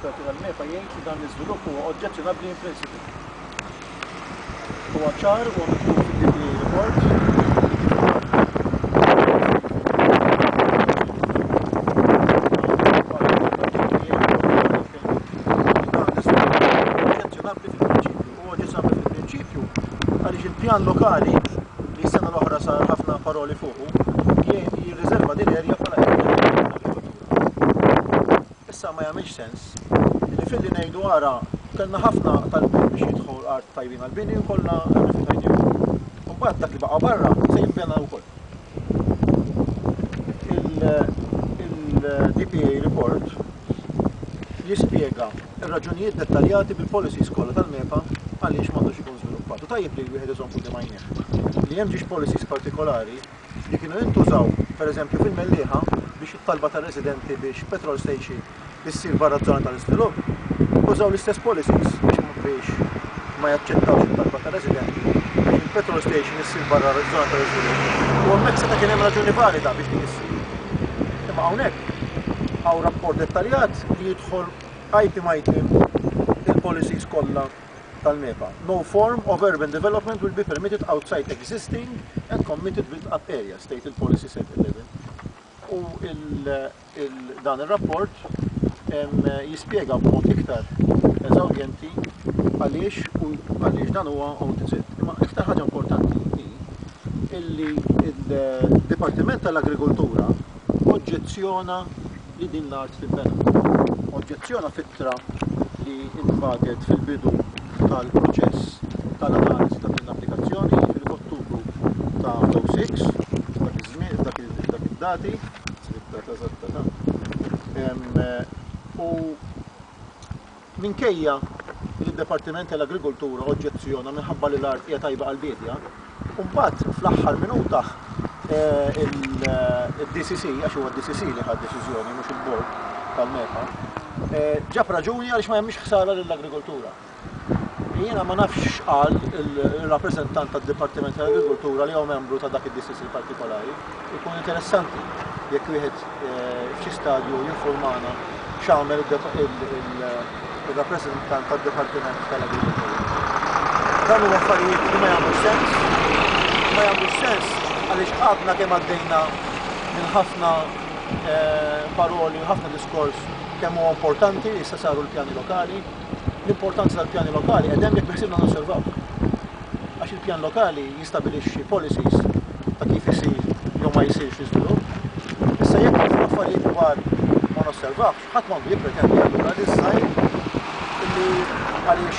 tal-esperti tal-MEPA jgħid li dan l-iżvilupp huwa oġġezzjonabbli in principle. Huwa ċar huwa miktub fid-DPA report li kif oġġezzjonabbli fil-prinċipju. Huwa oġġezzjonabbli fil-prinċipju għaliex il-pjan lokali li s-sena l-oħra sar ħafna paroli fuqu kien jirriserva din l-erja bħala erja tal-agrikoltura. Issa ma jagħmilx sens li filli ngħidu ara kellna ħafna talbiet biex jidħol art tajbin għall-bini u kollha rrifjutajnihom. U mbagħad dak li baqa' barra se jinbena wkoll. Il-DPA report jispjega r-raġunijiet dettaljati bil-policies kollha tal-MEPA għaliex m'għandux ikun żviluppat. U tajjeb li wieħed iżomm quddiem għajnejh li hemm ġiex policies partikolari li kienu jintużaw pereżempju fil-Mellieħa biex it-talba tar-residenti biex petrol station issir barra ż-żona tal-iżvilupp, użaw l-istess policies biex biex ma jaċċettawx it-talba tar-residenti biex il-petrol station issir barra ż-żona tal-iżvilupp. U hemmhekk seta' kien hemm raġuni valida biex din issir. Imma hawnhekk hawn rapport dettaljat li jidħol item item il-policies kollha tal-MEPA. No form of urban development will be permitted outside existing and committed built-up areas, stated policy set 11. U dan ir-rapport jispjega b'mod iktar eżawrjenti għaliex u għaliex dan huwa OTZ. Imma iktar ħaġa importanti hi illi il-Dipartiment tal-Agrikoltura oġġezzjona li din l-art tinbena. Oġġezzjona f'ittra li intbagħtet fil-bidu tal-proċess tal-analiżi ta' din l-applikazzjoni, jiġifieri f'Ottubru ta' 06, dak iż-żmien, dak id-dati, data eżatta ta' u Minkejja li d-Dipartiment tal-Agrikoltura oġġezzjona minħabba li l-art hija tajba għall-biedja, u mbagħad fl-aħħar minuta il-DCC, għax huwa d-DCC li ħa d-deċiżjoni mhux il-bord tal-MEPA, ġab raġuni għaliex ma jagħmilx ħsara lill-agrikoltura. Jiena ma nafx x'qal il-rappreżentant tad-Dipartiment tal-Agrikoltura li huwa membru ta' dak id-DCC partikolari. Ikun interessanti jekk wieħed f'xi stadju jinfurmana x'għamel ir-rappreżentant tad-Dipartiment tal-Agrikoltura. Dan huwa affarijiet li ma jagħmlux sens, ma jagħmlux sens għaliex għadna kemm għaddejna minn ħafna eh, paroli u ħafna diskors kemm huwa importanti li issa saru l-pjani lokali. L-importanza tal-pjani lokali qed hemm jekk biħsibna nosservaw. Għax il-pjan lokali jistabilixxi policies ta' kif isir jew ma jsirx l-iżvilupp. Issa jekk ħafna affarijiet kbar ma nosservawx, ħadd m'għandu jippretendi allura li żgħir illi għaliex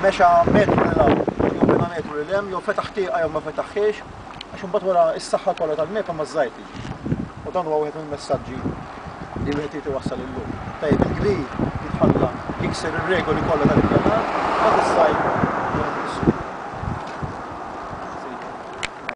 mexa metru lil hawn jew bena metru lil hemm jew fetaħ tieqa jew ma fetaħhiex, għax imbagħad wara s-saħħa kollha tal-MEPA ma żgħir tiġi. U dan huwa wieħed mill-messaġġi li wieħed irid iwassal illum. Tajjeb il-kbir jitħalla jikser ir-regoli kollha tal-ippjanar, dak iż-żgħir jieħu missu.